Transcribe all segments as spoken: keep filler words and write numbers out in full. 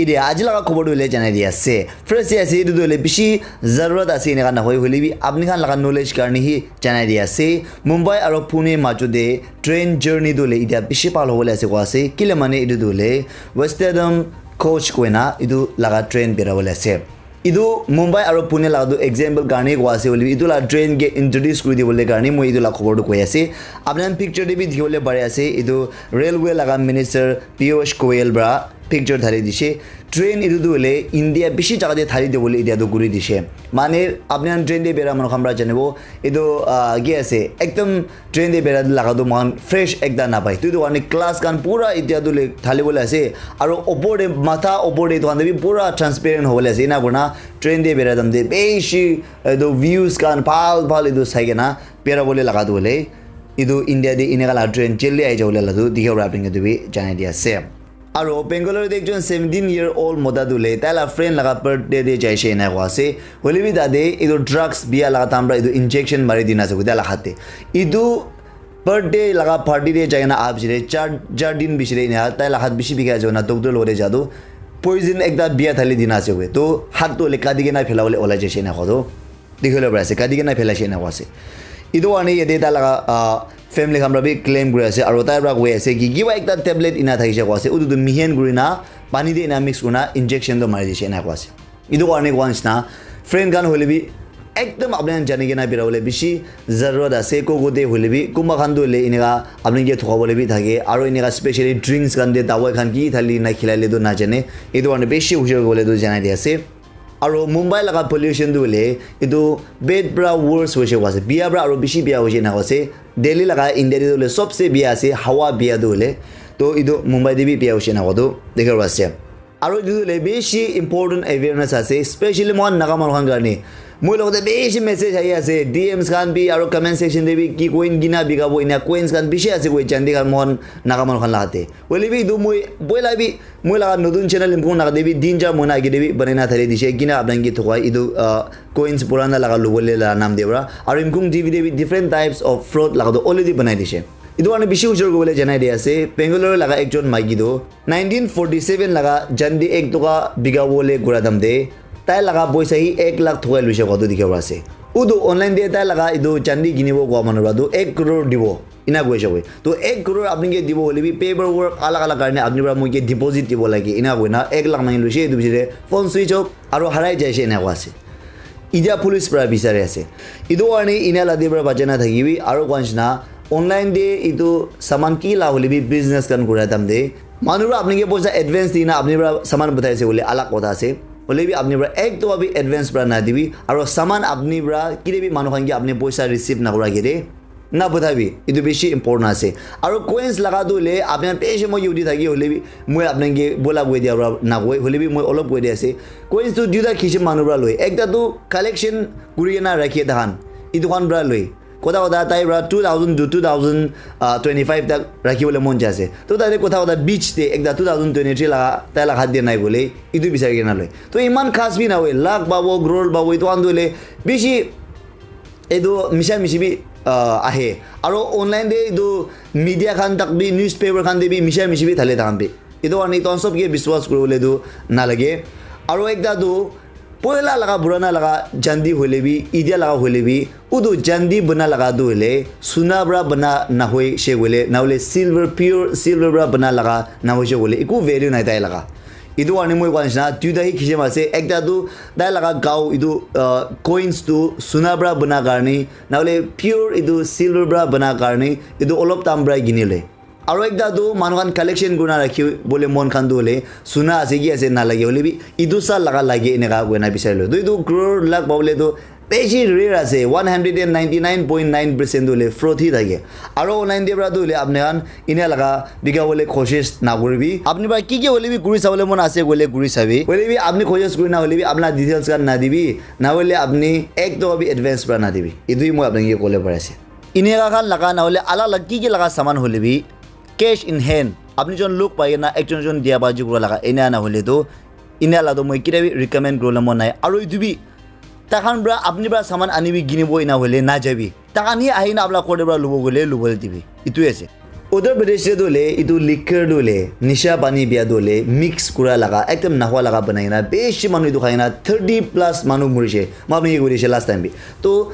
Etia aji laga khobor tu hoile janai di ase. First te ase, etu tu hoile bishi zarurat ase eneka nahoi, hoile bi apni khan laga knowledge karne hi janai di ase. Mumbai aro Pune majo te train journey tu hoile etia bishi bhal hobole ase koa ase. Kile mane etu tu hoile Western Coach koina etu laga train bera bole ase. Etu Mumbai aro Pune laga tu example karne koa ase, hoile bi etu laga train ke introduce kuri dibole karne moi etu laga khobor tu koi ase. Apni khan picture te bi dikhi bole pari ase, etu railway laga minister Piyush Goyal para picture thali dishe. Train etu tu hoile India bishi jaga te thali dibole etia tu kuri dishe. Mane apni khan train te bera manu khan para janibo, etu, ah, ki ase, ekdam train te bera laga tu moikhan fresh ekta napai. Tu etu karne glass khan pura etia tu le thali bole ase. Aro opor te, matha opor te etu khan te bi pura transparent hobole ase. Ena kurna train te bera time te bishi etu views khan bhal bhal etu sai kena bera bole laga tu hoile etu India te eneka la train jaldi ahi jabole la tu dikhibo para apni khan etu bi janai di ase. Aro Bangalore te ekjon seventeen year old mota tu le tai la friend laga birthday te jaise ena koa ase. Hoile bi tate etu drugs bia laga time para etu injection mari dina ase tai la hat te. Etu birthday laga party te jai kena aha piche te char, char din piche te ena tai la hat bishi bikhai ase koina doctor logot te ja tu poison ekta bia thali dina ase koile. To hat tu hoile kati kena phela bole olai jaise ena koa tu. Dikhi bole pari ase, kati kena phelaishe ena koa ase. Etu karne yate tai laga, ah, family khan para bi claim kuri ase, aro tai para koi ase ki kiba ekta tablet ena thakishe koa ase, utu tu mihen kuri na pani te ena mix kuri na injection tu mari dishe ena koa ase. Etu karne koa nishina, friend khan hoile bi ekdam apni khan jani kena bera bole bishi zarurat ase, ko ko te hoile bi, kunba khan tu hoile eneka apni ke thoka bole bi thake, aro eneka specially drinks khan te dawai khan ki thali na khilai le tu na jane, etu karne bishi hushiar kuri bole tu janai di ase. Aro Mumbai laga pollution tu hoile etu bad pra worse hoise koa ase. Bia pra aro bishi bia hoise ena koa ase. Delhi laga India te tu hoile sobse bia ase, hawa bia tu hoile. To etu Mumbai te bi bia hoise ena koa tu dikhi bo ase. Aro etu tu hoile bishi important awareness ase, especially moikhan Naga manu khan karne. Moi logot te bishi message ahi ase, D Ms khan bi aro comment section te bi ki coin kina bika bo ena coins khan bishi ase koi jandi khan moikhan Naga manu khan laga te. Hoile bi etu moi boila bi moi laga notun channel Imkhong Naga te bi tin char mohina age te bi banai na thali dishe, kina apni khan ke thokai etu, ah, coins purana laga lobole la naam te para. Aru Imkhong T V te bi different types of fraud laga tu already banai dishe. Etu karne bishi ujor kuribole janai di ase. Bangalore laga ekjon maiki tu nineteen forty seven laga jandi ek toka bika bole kura dam te tai laga poisa hi ek lakh thokai luise koa tu dikhi pai ase. Utu online te tai laga etu jandi kinibo koa manu para tu ek crore dibo. Ena koise koi. To ek crore apni ke dibo hoile bi paperwork alag alag karne apni para moi ke deposit dibo lage. Ena koina ek lakh mangi loise, etu pichete phone switch off aru harai jaise ena koa ase. Etia police para bisari ase. Etu karne ena la de para bacha na thakibi aru koa nishina online te etu saman ki la hoile bi business khan kura time te manu para apni ke poisa advance dina apni para saman pathai ase koile alag kotha ase. Hoile bi apni para ek toka bi advance para na dibi aru saman apni para kile bi manu khan ke apni poisa receive na kura ke de na buthabi, etu bishi important ase. Aru coins laga tu hoile apni khan bishi moi yudi thaki hoile bi moi apni ke bola koi dia para na koi, hoile bi moi olop koi dia ase. Coins tu duita kisim manu para loi, ekta tu collection kuri kena rakhi tahan, etu khan para loi. Kotha kotha tai para two thousand to two thousand twenty five tak rakhi bole mon jai ase. To tai kotha kotha beach te ekta two thousand twenty three laga tai laga hat dia nai bole, etu bisari kena loi. To iman khas bi na hoi, lakh pabo, crore pabo, etu khan tu hoile bishi etu misha mishi bi, ah, ahe. Aro online te etu media khan tak bi, newspaper khan te bi misha mishi bi thale tahan bi. Etu karne etu khan sob ke biswas kuribole tu nalage. Aro ekta tu poila laga purana laga jandi hoile bi, etia laga hoile bi, utu jandi bana laga tu hoile suna para bana na hoi she koile, na hoile silver, pure silver para bana laga na hoi she koile, eku value nai tai laga. Etu karne moi koa nishina duita hi kisim ase, ekta tu tai laga gao etu, ah, coins tu suna para bana karne na hoile pure etu silver para bana karne etu olop dam para kini le. Aru ekta tu manu khan collection kurina rakhi bole mon khan tu hoile suna ase ki ase na lage hoile bi etu sa laga lage eneka koina bisari loi. Tu etu crore lakh pabole tu bishi rare ase, one hundred and ninety nine point nine percent tu hoile fraud hi thake. Aru online te para tu hoile apni khan ena laga bika bole koshish na kuribi. Apni para ki ki hoile bi kuri sabole mon ase koile kuri sabi. Hoile bi apni koshish kuri na hoile bi apna details khan na dibi. Na hoile apni ek toka bi advance para na dibi. Etu hi moi apni ke kole pari ase. Eneka khan laga na hoile alag alag ki ki laga saman hoile bi cash in hand, apni jon log pai na ekjon jon dia baji kura laga ena na hoile tu ena la tu moi kida bi recommend kuribole mon nai. Aru etu bi takhan para apni para saman ani bi kinibo ena hoile na jabi. Takhan hi ahi na apna ghor te para lobo koile lobole dibi. Etu ase. Uttar Pradesh te tu le itu liquor tu le nisha pani bia tu le mix kura laga ekdam nahwa laga banai na bishi manu itu khai na thirty plus manu murishe. Ma apni ke koishe last time bi. To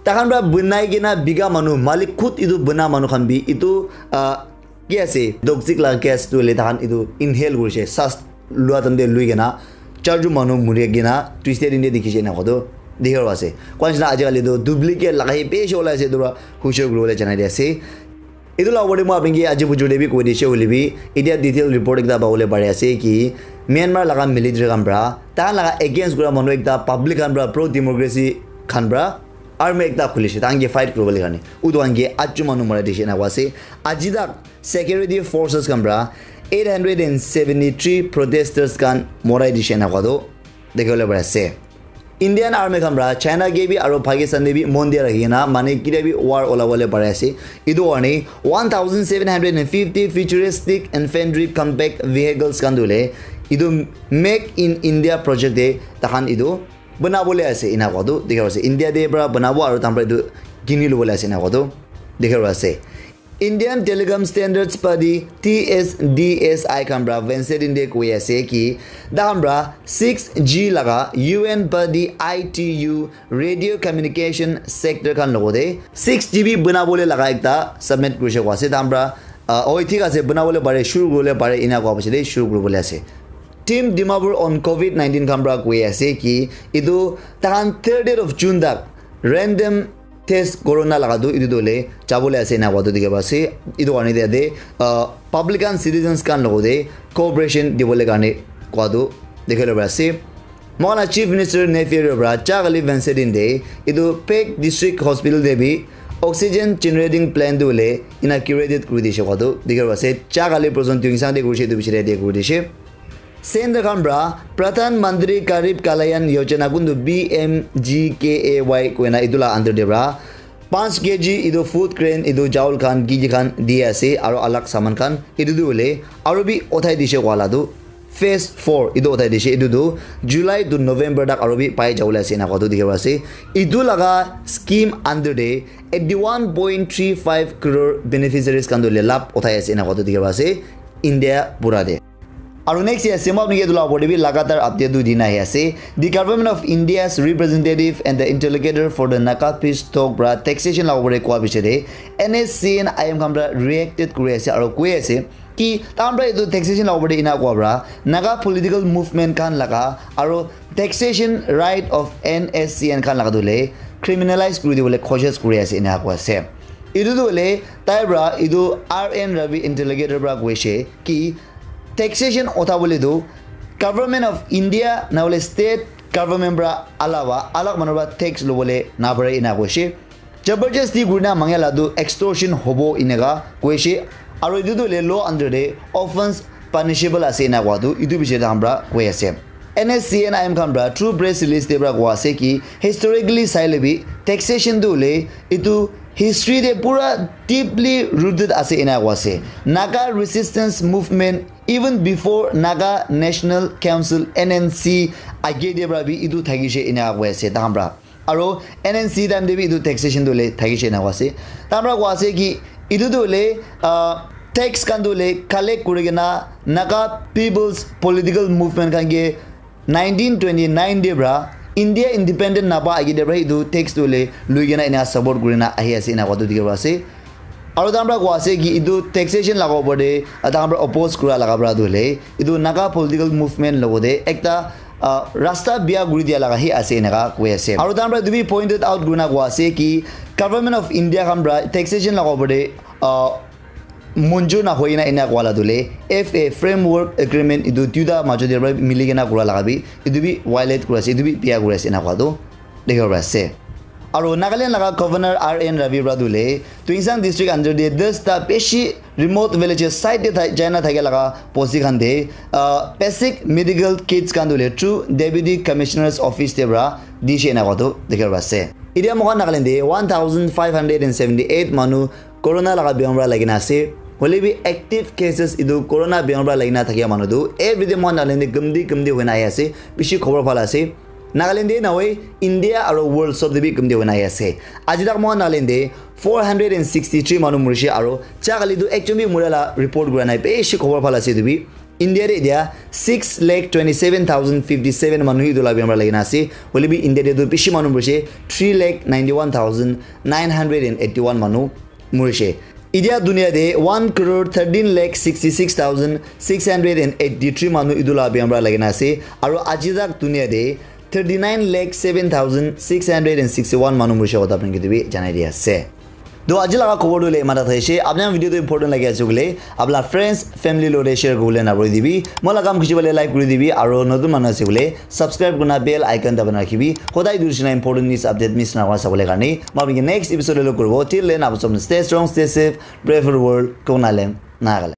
takhan pra banai kena biga manu malik khud itu bana manu khan bi itu ah, ki ase toxic laga gas tu le takhan itu inhale kurishe. Sas lua time te lui kena charju manu muri kena twisted in de dikhishe na kodo dikhi ase. Kwan jina ajikali tu duplicate laga hi bishi olai ase tu pra hushe kuribole janai di ase. Itu la opor te moi apni ke aji bujur te bi koi dishe hoile bi, etia detail report ekta pabole pari ase ki Myanmar laga military khan pra, tahan laga against kura manu ekta public khan pra, pro democracy khan pra, army ekta khulishe, tahan ke fight kuribole karne. Utu khan ke atju manu mara dishe na ase. Aji tak security forces khan pra eight hundred and seventy-three protesters khan morai dishe na kodo. Dekhibole pari ase. Indian Army khan pra China ke bi aro Pakistan te bi mon dia rakhi kena mane kida bi war ola wale pare ase. Itu karne one thousand seven hundred and fifty futuristic infantry combat vehicles khan dule itu Make in India project te takhan itu bana bole ase ina kowa tu dikhi ase. India te pra bana bo aro takhan pra itu kini lobole ase ina kowa tu dikhi ase. Indian Telecom Standards Body T S D S I khan pra Wednesday din de koi ase ki takhan pra six G laga U N body I T U radio communication sector khan logote six G B bana bole laga ekta submit kurishe koi ase. Takhan pra uh, oi thik ase bana bole pare shuru kuribole pare ina koi ase de shuru kuribole ase. Team Dimapur on covid nineteen khan pra koi ase ki itu takhan thirtieth of June tak random test corona laga tu itu dole jabole ase na kowa tu dikhi ase. Itu karne de ate uh, public and citizens khan logote cooperation dibole karne kowa tu dikhi ase. Mohan la Chief Minister Neiphiu Rio pra cha kali Wednesday din de itu Phek District Hospital de bi oxygen generating plant tu le inaugurated kuri dishe kowa tu dikhi ase. Cha kali President Tuensang de kurishe itu bichare de kuri dishe. Center khan pra Pradhan Mantri Garib Kalyan Yojana kuntu P M G K A Y koina itu la under de pra five K G itu food grain itu chawal khan ki ki khan di ase aro alag saman khan itu tu hole aro bi uthai dishe kowa la tu phase four itu uthai dishe itu tu July to November tak aro bi pai jabole ase ena kowa tu dikhi ase. Itu laga scheme under de eighty-one point three five crore beneficiaries khan tu le lab uthai ase ena kowa tu dikhi ase India pura de. Aru next year sema apni ke dula opor te bi lagatar update tu dina ahi ase. The government of India's representative and the interlocutor for the Naga peace talk pra taxation la opor te kowa bichare N S C N I M khan pra reacted kuri ase aru koi ase ki takhan pra etu taxation la opor te ina kowa pra Naga political movement khan laga aru taxation right of N S C N khan laga tu le criminalize kuri dibole koshish kuri ase ina kowa ase. Etu tu hole tai pra etu R N Ravi interlocutor pra koise ki taxation utha bole tu government of India na hole state government pra alawa alag manu pra tax lobole na pare ina koise. Jabardasti kurina mangya la tu extortion hobo ineka koise. Aru etu tu hole law under de offense punishable ase ina kowa tu etu bichare takhan pra koi ase. N S C N I M khan pra through press release te pra kowa ase ki historically sai le bi taxation tu hole etu history te pura deeply rooted ase ena kowa ase. Naga resistance movement even before Naga National Council N N C age te pra bi etu thakishe ena kowa ase takhan pra. Aru N N C time te bi etu taxation tu hole thakishe ena kowa ase. Takhan pra kowa ase ki etu tu hole uh, tax khan tu hole collect kuri kena Naga people's political movement khan ke nineteen twenty-nine te pra India independent napa age te pra etu tax tu hole lui kena ena support kuri na ahi ase ena kowa tu dikhi ase. Aru takhan pra kowa ase ki etu taxation laga opor te takhan pra oppose kura laga pra tu hole etu Naga political movement logote ekta uh, rasta bia kuri dia laga hi ase eneka koi ase. Aru takhan pra etu bi pointed out kurina kowa ase ki government of India khan pra taxation laga opor te uh, munjur na hoina ena kowa la tu hole F A framework agreement etu duita majo te pra mili kena kura laga bi etu bi violate kuri ase etu bi bia kuri ase ena kowa tu dikhi bo pari ase. Aru Nagaland laga governor R N Ravi pra tu hole Tuensang district under te das ta bishi remote villages side te thai- jaina thake laga bosti khan te uh, basic medical kits khan tu hole through deputy commissioner's office te pra dishe ena kowa tu dikhi bo pari ase. Etia moikhan Nagaland te one thousand five hundred and seventy eight manu corona laga bimar pra lagi na ase. Hoile bi active cases etu corona bimar pra lagi na thakia manu tu everyday moikhan Nagaland te gumdi gumdi hoina ahi ase. Bishi khobor bhal ase. Nagaland te nahoi India aro world sob te bi ekum te hoina ahi ase. Aji tak moikhan Nagaland te four hundred and sixty three manu murishe aro cha kali tu ekjon bi mura la report kura nai, bishi khobor bhal ase etu bi. India te etia six lakh twenty seven thousand fifty seven manu etu la bimar lagi na ase. Hoile bi India te tu bishi manu murishe, three lakh ninety one thousand nine hundred and eighty one manu murishe. Etia dunia te one crore thirteen lakh sixty six thousand six hundred and eighty three manu etu la bimar lagi na ase. Aro aji tak dunia te thirty nine lakh seven thousand six hundred and sixty one manu murishe kotha apni kiti bi janai di ase. To aji laga khobor tu le imata thaise. Apni khan video tu important lagi ase koile, apni friends, family lo te share kuribole na bhuli dibi. Moi la kam khushi pale like kuri dibi, aro notun manu ase koile subscribe kurina bell icon dabai na rakhibi. Hodai dur sina important news update miss na hoi sabole karne. Moi apni next episode lo kuribo. Till then, apni sob stay strong, stay safe, pray for the world, Konalem, Nagaland.